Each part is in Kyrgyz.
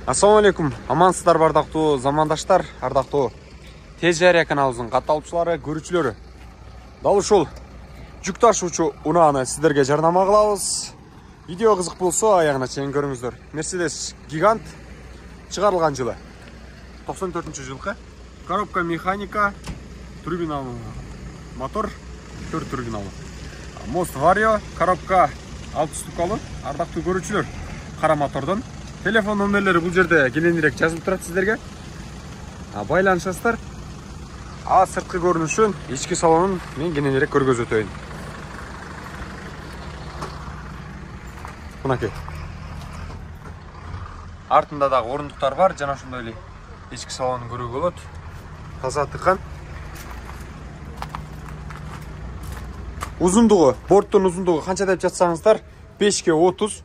Assalamu alaikum. Амансыздар бардактуу замандаштар, ардактуу Тез Жария каналыбыздын катталуучулары, көрүүчүлөрү. Дал ушул жүк ташуучу унааны сиздерге жарнама кылабыз. Видео кызык болсо аягына чейин көрүңүздөр. Mercedes Gigant чыгарылган жылы 94-жылкы. Коробка механика, турбиналуу мотор, 4 турбиналуу. Мост Vario, коробка 6 ступкалуу. Ардактуу көрүүчүлөр, кара мотордон. Телефон номерлери бул жерде кененирээк жазылып турат сиздерге. Байланышасыздар. Сырткы көрүнүшүн, ички салонун мен кененирээк көргөзүп өтөйүн. Мынакей. Артында дагы орундуктар бар, жана ошондой эле ички салонун көрүүгө болот. Таза тыкан. Узундугу, борттун узундугу канча деп жатсаңыздар, 5ке 30.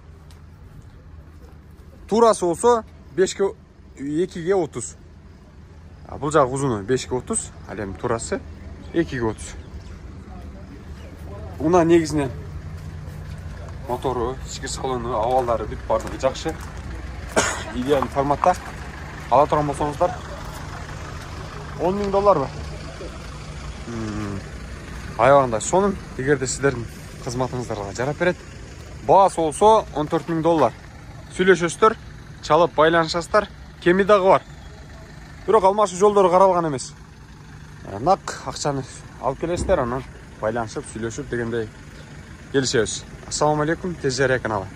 Турасы болсо 5ке 2ге 30. Бул жагы узуну 5ке 30, ал эми турасы 2ге 30. Уна негизинен мотору, ички салону, абалдары бүт бардыгы жакшы. Идеалдуу форматта. Ала турган болсоңуздар $10.000 аябагында сонун, эгерде сиздердин кызматыңыздарга жарап берет. Баасы болсо $14.000. Сүйлөшөсүздөр, чалып байланышасыздар. Кеми дагы бар. Бирок алмашуу жолдору каралган эмес. Нак акчаны алып келесиздер, анан байланышып, сүйлөшүп дегендей келишебиз. Ассаламу алейкум, Тез Жария каналы.